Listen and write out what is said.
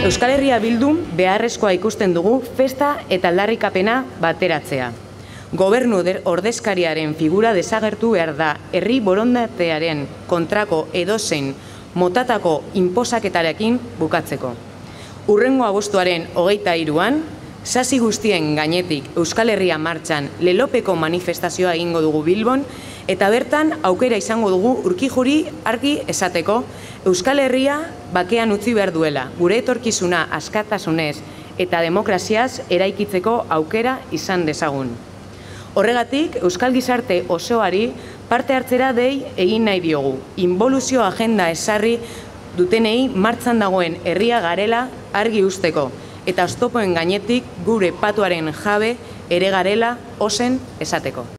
Euskal Herria Bildun beharrezkoa ikusten dugu festa eta aldarrikapena bateratzea. Gobernu ordezkariaren figura desagertu behar da herri borondatearen kontrako edozein motatako inposaketarekin bukatzeko. Hurrengo abuztuaren 23an, sasi guztien gainetik Euskal Herria martxan lelopeko manifestazioa egingo dugu Bilbon, eta bertan aukera izango dugu Urkijuri argi esateko Euskal Herria bakean utzi behar duela, gure etorkizuna askatasunez eta demokraziaz eraikitzeko aukera izan dezagun. Horregatik, Euskal Gizarte osoari parte hartzera dei egin nahi diogu, inboluzio agenda ezarri dutenei martxan dagoen herria garela argi usteko, eta oztopoen gainetik gure patuaren jabe ere garela ozen esateko.